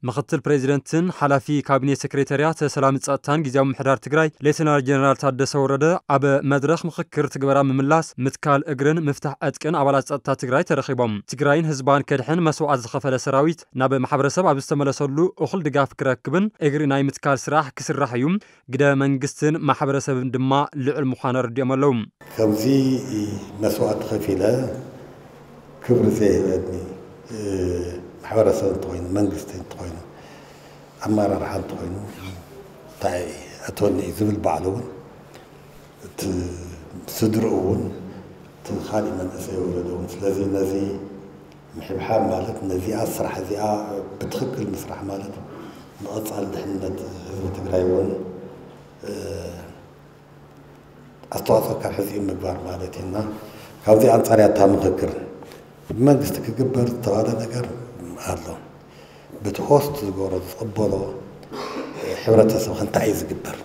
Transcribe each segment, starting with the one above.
ምክትል ፕሬዚደንትን ሓላፊ ካቢኔ ሴክሬታርያት ሰላም ጸጥታን ጊዜያዊ ምሕዳር ትግራይ ሌተናል ጀነራል ታደሰ ወረደ ኣብ መድረኽ ምኽክር ትግበራ ምምላስ፣ ምትካል እግርን ምፍታሕ ዕጥቅን ኣባላት ጸጥታ ትግራይ ተረኺቦም። ትግራይን ህዝባን ከድሕን መስዋዕት ዝኸፈለ ሰራዊት ናብ ማሕበረሰብ ኣብ ዝተመለሰሉ እኹል ድጋፍ ክረክብን እግሪ ናይ ምትካል ስራሕ ክስራሕ እዩ። ግደ መንግስትን ማሕበረሰብን ድማ ልዑል ምዃኑ ኣረዲኦም ኣለዉ። ከምዚ መስዋዕቲ ከፊለ ክብሪ ዘይህበኒ ማሕበረሰብ እንተኾይኑ፣ መንግስቲ እንተኾይኑ፣ ኣመራርሓ እንተኾይኑ እንታይ ኣተወኒ እዩ ዝብል ባዕሉ እውን እቲ ስድርኡ እውን እቲ ካሊእ መንእሰይ ወለዶ እውን። ስለዚ ነዚ ምሕብሓብ ማለት ነዚኣ ስራሕ እዚኣ ብትኽክል ምስራሕ ማለት ንቐፃሊ ድሕነት ህዝቢ ትግራይ እውን ኣስተዋፅኦ ካብ ሕዚ ምግባር ማለት እዩ። እና ካብዚ ኣንፃር እያ እታ ምኽክር። ብመንግስቲ ክግበር ዝተባለ ነገር ኣሎ። በቲ ሆስት ዝገብሮ ዝቕበሎ ሕብረተሰብ ከ እንታይ እዩ ዝግበር?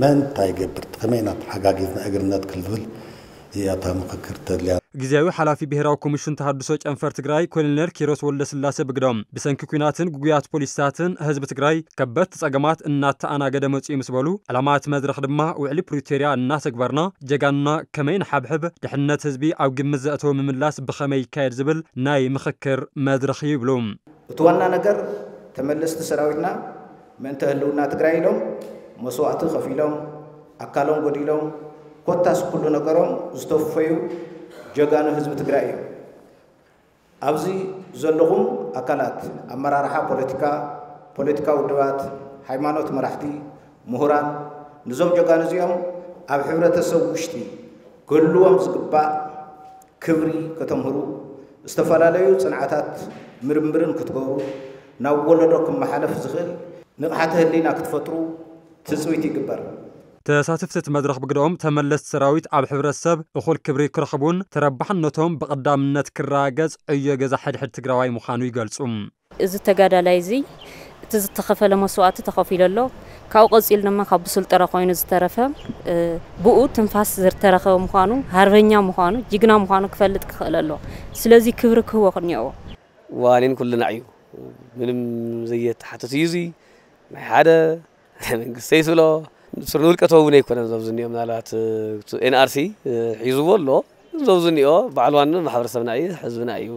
መን እንታይ ይገብር? ከመይ ኢና ተሓጋጊዝና እግሪ ነትክል ዝብል እያ እታ ምኽክር ተድልያ። ግዜያዊ ሓላፊ ብሄራዊ ኮሚሽን ተሃድሶ ጨንፈር ትግራይ ኮሎኔል ኪሮስ ወልደስላሴ ብግዶም፣ ብሰንኪ ኲናትን ግጉያት ፖሊሲታትን ህዝቢ ትግራይ ከበድቲ ጸገማት እናተኣናገደ መጺኡ ምስ በሉ፣ ዕላማ እቲ መድረኽ ድማ ውዕሊ ፕሪቶርያ እናተግበርና ጀጋኑና ከመይ ንሓብሕብ፣ ድሕነት ህዝቢ ኣብ ግምት ዘእተወ ምምላስ ብኸመይ ይካየድ ዝብል ናይ ምኽክር መድረኽ እዩ ይብሉ። እቲ ዋና ነገር ተመለስቲ ሰራዊትና ምእንተ ህልውና ትግራይ ኢሎም መስዋእቲ ከፊሎም ኣካሎም ጎዲሎም ኮታስ ኩሉ ነገሮም ዝተወፈዩ ጀጋኑ ህዝቢ ትግራይ እዮም። ኣብዚ ዘለኹም ኣካላት ኣመራርሓ ፖለቲካ፣ ፖለቲካ ውድባት፣ ሃይማኖት መራሕቲ፣ ምሁራን ንዞም ጀጋኑ እዚኦም ኣብ ሕብረተሰብ ውሽጢ ክህልዎም ዝግባእ ክብሪ ከተምህሩ፣ ዝተፈላለዩ ፅንዓታት ምርምርን ክትገብሩ፣ ናብ ወለዶ ክመሓለፍ ዝኽእል ንቕሓተ ህሊና ክትፈጥሩ ትፅቢት ይግበር። ተሳተፍቲ እቲ መድረኽ ብግደኦም ተመለስቲ ሰራዊት ኣብ ሕብረተሰብ እኹል ክብሪ ክረኽቡን ተረባሕነቶም ብቐዳምነት ክረጋገፅ ዕዮ ገዛ ሕድሕድ ትግራዋይ ምዃኑ ይገልፁ። እዚ ተጋዳላይ እዚ እቲ ዝተኸፈለ መስዋእቲ ተኸፊሉ ኣሎ። ካብኡ ቀፂሉ ድማ ካብ ብሱል ጥረ ኮይኑ ዝተረፈ፣ እ፣ ብኡ ትንፋስ ዝተረኸበ ምዃኑ፣ ሃርበኛ ምዃኑ፣ ጅግና ምዃኑ ክፈልጥ ክኽእል ኣሎ። ስለዚ ክብሪ ክህቦ ክኒኦዎ። ዋኒን ኩልና እዩ። ምንም ዘየተሓትት እዩ። እዚ ናይ ሓደ ናይ መንግስቲ ይስሎ ስር ንውልቀ ተወውን ኣይኮነን። ዞም ዝኒኦ ምናልባት፣ እ፣ ኤን ኣር ሲ፣ እ፣ ሒዝዎ ኣሎ። ዞም ዝኒኦ ባዕሉ ዋና ማሕበረሰብና እዩ፣ ህዝብና እዩ።